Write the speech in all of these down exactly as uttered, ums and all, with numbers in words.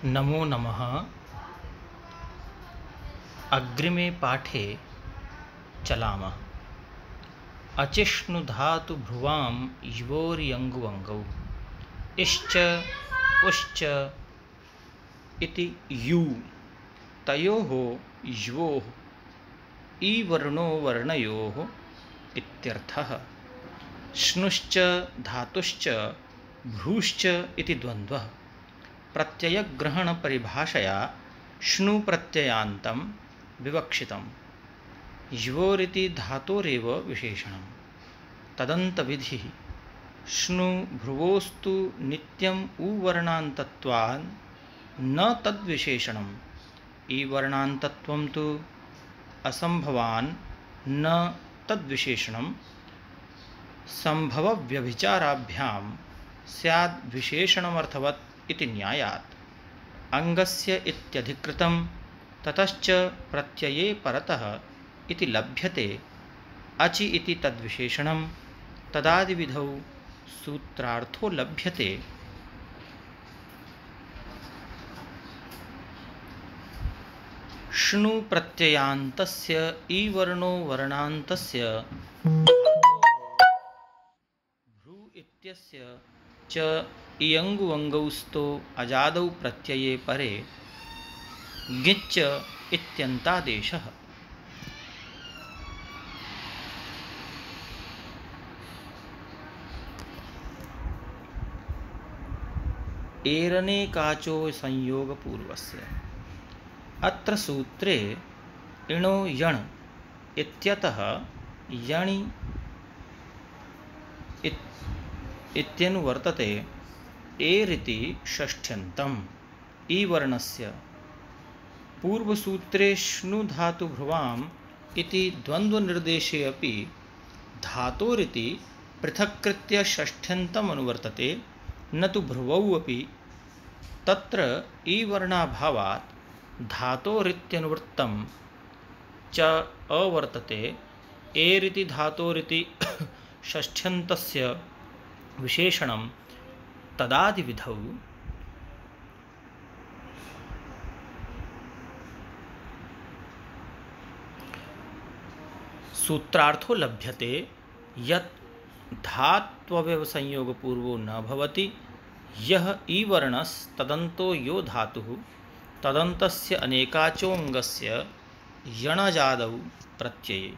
नमो नमः। अग्रिमे पाठे चलामः। अचिष्णुधातु भ्रुवां युवोर्यङ्गुवङ्गौ इश्च उश्च इति यु तयोः युवोः ईवर्णो वर्णयोः इत्यर्थः। श्नुश्च धातुश्च भ्रूश्च इति द्वन्द्वः प्रत्ययग्रहणपरिभाषया श्नु प्रत्ययान्तं विवक्षितम्। युवोरिति धातोरेव विशेषणं तदन्तविधिः। श्नु भ्रुवोस्तु नित्यम् उवर्णान्तत्वान् न तद्विशेषणम्। ईवर्णान्तत्वं तु असम्भवान् न तद्विशेषणं। सम्भवव्यभिचाराभ्यां स्याद् विशेषणमर्थवत् इति न्यायात्। अङ्गस्य इत्यधिकृतं ततश्च प्रत्यये परतः इति लभ्यते। अचि इति तद्विशेषणं तदादिविधौ सूत्रार्थो लभ्यते। श्नु प्रत्ययान्तस्य ईवर्णो वर्णान्तस्य भ्रू इत्यस्य च इयङ्गुवङ्गौस्तो अजादौ प्रत्यये परे ङिच्च इत्यन्तादेशः। एरनेकाचो संयोगपूर्वस्य। अत्र सूत्रे इणो यण् इत्यतः यणि इत्यनुवर्तते। एरिति षष्ठ्यन्तम् ईवर्णस्य। पूर्वसूत्रे श्नु धातु भ्रुवाम् इति द्वन्द्वनिर्देशे अपि धातोरिति पृथक्कृत्य षष्ठ्यन्तम् अनुवर्तते, न तु भ्रुवौ अपि। तत्र ईवर्णाभावात् धातोरित्यनुवृत्तं च अवर्तते। एरिति धातोरिति षष्ठ्यन्तस्य विशेषणं तदादिविधौ सूत्रार्थो लभ्यते। यत् धात्वव्यवसंयोगपूर्वो न भवति। यः ईवर्णस्तदन्तो यो धातुः तदन्तस्य अनेकाचोऽङ्गस्य यणजादौ प्रत्यये।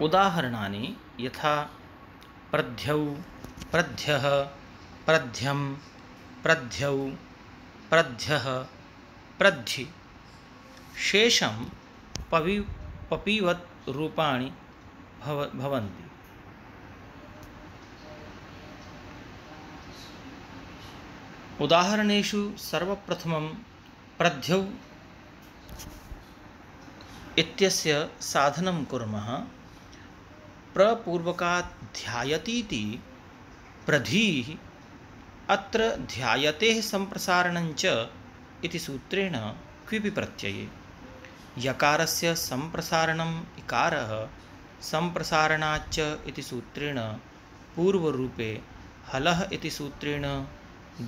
उदाहरणानि यथा प्रध्यौ प्रध्यः प्रध्यं प्रध्यौ प्रध्यः प्रद्धि। शेषं पवि पपिवत् रूपाणि भव भवन्ति। उदाहरणेषु सर्वप्रथमं प्रध्यौ इत्यस्य साधनं कुर्मः। प्रपूर्वकात् ध्यायतीति प्रधीः। अत्र ध्यायतेः सम्प्रसारणञ्च इति सूत्रेण क्विपि प्रत्यये। यकारस्य सम्प्रसारणम् इकारः सम्प्रसारणाच्च इति सूत्रेण पूर्वरूपे, हलः इति सूत्रेण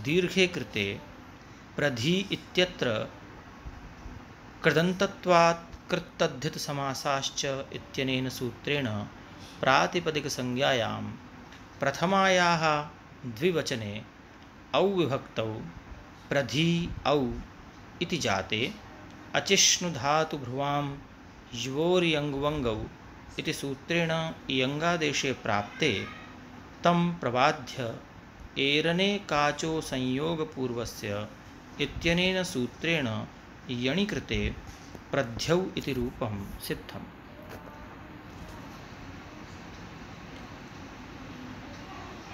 दीर्घे कृते। प्रधी इत्यत्र कृदन्तत्वात् कृत्तद्धितसमासाश्च इत्यनेन सूत्रेण प्रातिपदिकसंज्ञायां प्रथमायाः द्विवचने औ विभक्तौ प्रधी औ इति जाते अचिष्णुधातु भ्रुवां युवोर्यङ्गुवङ्गौ इति सूत्रेण इयङ्गादेशे प्राप्ते तं प्रबाध्य एरने काचो संयोगपूर्वस्य इत्यनेन सूत्रेण यणि कृते प्रध्यौ इति रूपं सिद्धम्।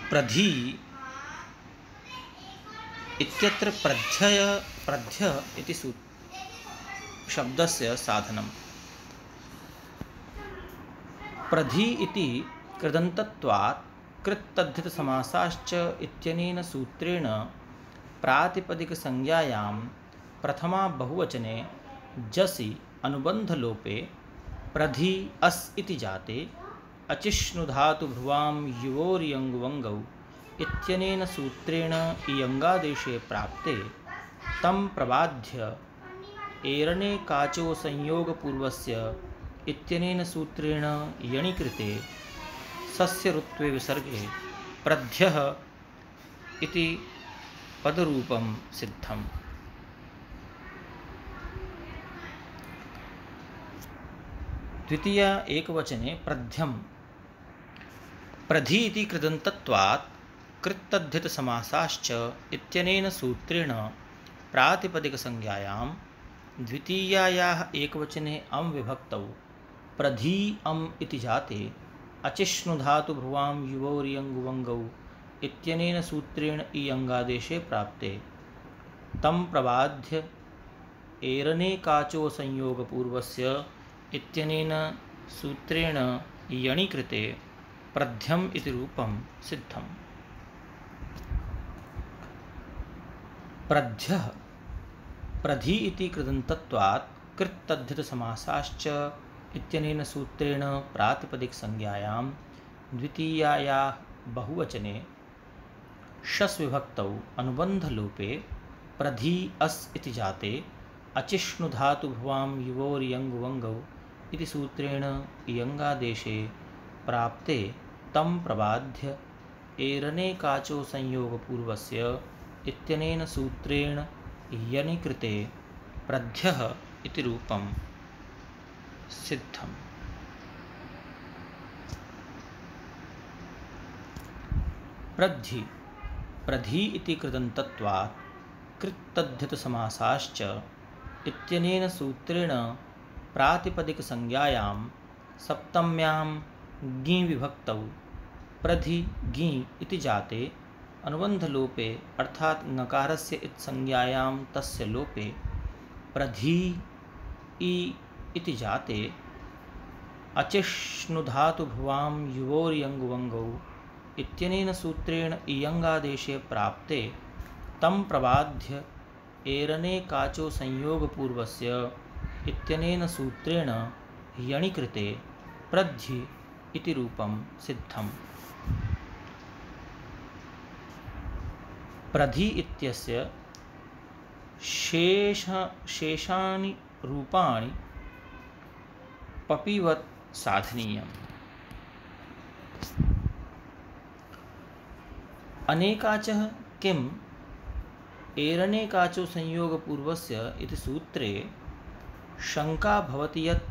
प्रधी इत्यत्र प्रध्यय प्रध्य इति शब्दस्य साधनं। प्रधी इति कृदन्तत्वात् कृत्तद्धितसमासाश्च इत्यनेन सूत्रेण प्रातिपदिकसंज्ञायां प्रथमा बहुवचने जसि अनुबन्धलोपे प्रधी अस् इति जाते अचिष्णुधातु भ्रुवां युवोर्यङ्वङ्गौ इत्यनेन सूत्रेण इयङ्गादेशे प्राप्ते तं प्रबाध्य एरणे काचो संयोगपूर्वस्य इत्यनेन सूत्रेण यणिकृते सस्यऋत्वे विसर्गे प्रध्यः इति पदरूपं सिद्धम्। द्वितीय एकवचने प्रध्यं प्रधि इति कृदन्तत्वात् कृत्तद्धितसमासाश्च इत्यनेन सूत्रेण प्रातिपदिकसंज्ञायां द्वितीयायाः एकवचने अं विभक्तौ प्रधि अम् इति जाते अचिष्णुधातु भ्रुवां युवोर्यङ्वङ्गौ इत्यनेन सूत्रेण इयङ्गादेशे प्राप्ते तं प्रबाध्य एरने काचो संयोगपूर्वस्य इत्यनेन सूत्रेण यणिकृते प्रध्यम् इति रूपं सिद्धम्। प्रध्यः प्रधि इति कृदन्तत्वात् कृत्तद्धितसमासाश्च इत्यनेन सूत्रेण प्रातिपदिकसंज्ञायां द्वितीयायाः बहुवचने शस् विभक्तौ अनुबन्धलोपे प्रधि अस् इति जाते अचिष्णुधातु भ्रुवां युवोर्यङ्वङ्गौ इति सूत्रेण इयङ्गादेशे प्राप्ते तं प्रबाध्य एरने काचो संयोगपूर्वस्य इत्यनेन सूत्रेण यणिकृते प्रध्यः इति रूपं सिद्धम्। प्रद्धि प्रधि इति कृदन्तत्वात् कृत्तद्धितसमासाश्च इत्यनेन सूत्रेण प्रातिपदिकसंज्ञायां सप्तम्यां ङि विभक्तौ प्रधि ङि इति जाते अनुबन्धलोपे अर्थात् ङकारस्य इत्संज्ञायां तस्य लोपे प्रधि इ इति जाते अचिष्णुधातु भ्रुवां युवोर्यङ्वङ्गौ इत्यनेन सूत्रेण इयङ्गादेशे प्राप्ते तं प्रबाध्य एरने काचो संयोगपूर्वस्य इत्यनेन सूत्रेण यणिकृते प्रद्धि इति रूपं सिद्धम्। प्रधि इत्यस्य शेष शेषानि रूपाणि पपिवत् साधनीयम्। अनेकाचः किम् एरने काचो संयोगपूर्वस्य इति सूत्रे शङ्का भवति यत्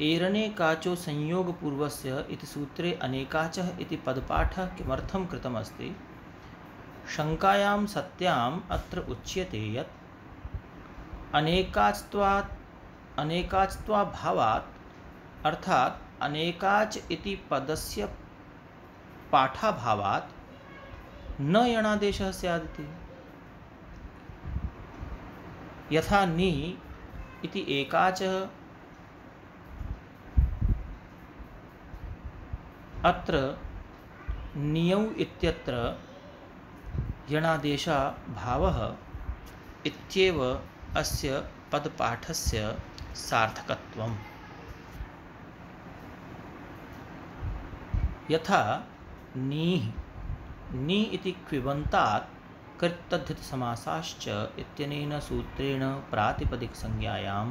एरने काचो संयोगपूर्वस्य इति सूत्रे अनेकाचः इति पदपाठः किमर्थं कृतमस्ति। शङ्कायां सत्याम् अत्र उच्यते यत् अनेकाच्त्वात् अनेकाच्त्वाभावात् अर्थात् अनेकाच् इति पदस्य पाठाभावात् न यणादेशः स्यादिति। यथा नि इति एकाचः अत्र नियौ इत्यत्र यणादेशः भावः इत्येव अस्य पदपाठस्य सार्थकत्वम्। यथा नीः नि इति क्विबन्तात् कृत्तद्धितसमासाश्च इत्यनेन सूत्रेण प्रातिपदिकसंज्ञायां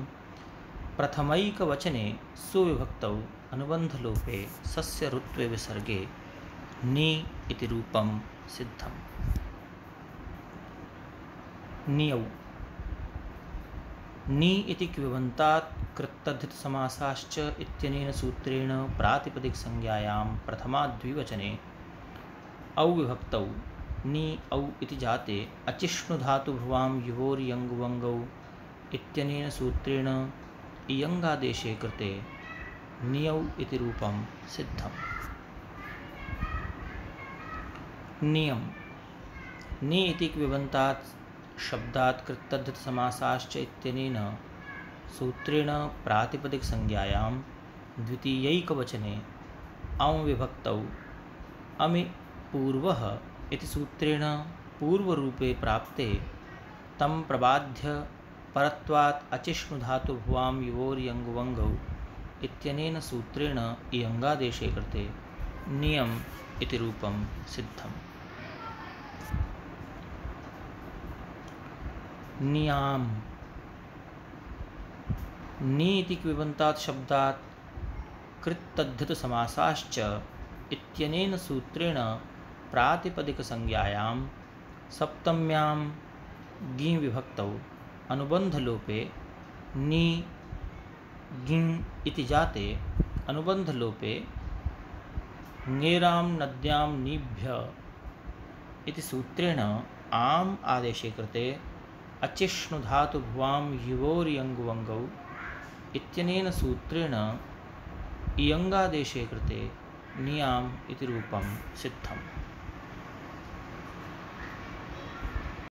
प्रथमैकवचने सुविभक्तौ अनुबन्धलोपे सस्यऋत्वे विसर्गे नि इति रूपं सिद्धम्। नियौ नि इति क्विबन्तात् कृत्तद्धितसमासाश्च इत्यनेन सूत्रेण प्रातिपदिकसंज्ञायां प्रथमाद्विवचने औ विभक्तौ नि औ इति जाते अचिष्णुधातु भ्रुवां युवोर्यङ्वङ्गौ इत्यनेन सूत्रेण इयङ्गादेशे कृते नियौ इति रूपं सिद्धम्। नियम नि इति क्विबन्तात् शब्दात् कृत्तद्धितसमासाश्च इत्यनेन सूत्रेण प्रातिपदिकसंज्ञायां द्वितीयैकवचने औ विभक्तौ अमि पूर्वः इति सूत्रेण पूर्वरूपे प्राप्ते तं प्रबाध्य परत्वात् अचिष्णुधातु भ्रुवां युवोर्यङ्वङ्गौ इत्यनेन सूत्रेण इयङ्गादेशे कृते नियम इति रूपं सिद्धम्। नियाम नि इति क्विबन्तात् शब्दात् कृत्तद्धितसमासाश्च इत्यनेन सूत्रेण प्रातिपदिकसंज्ञायां सप्तम्यां ङि विभक्तौ अनुबन्धलोपे नि ङिङ् इति जाते अनुबन्धलोपे ङेरां नद्यां निभ्य इति सूत्रेण आम् आदेशे कृते अचिष्णुधातुभ्वां युवोर्यङ्गुवङ्गौ इत्यनेन सूत्रेण इयङ्गादेशे कृते नियाम् इति रूपं सिद्धम्।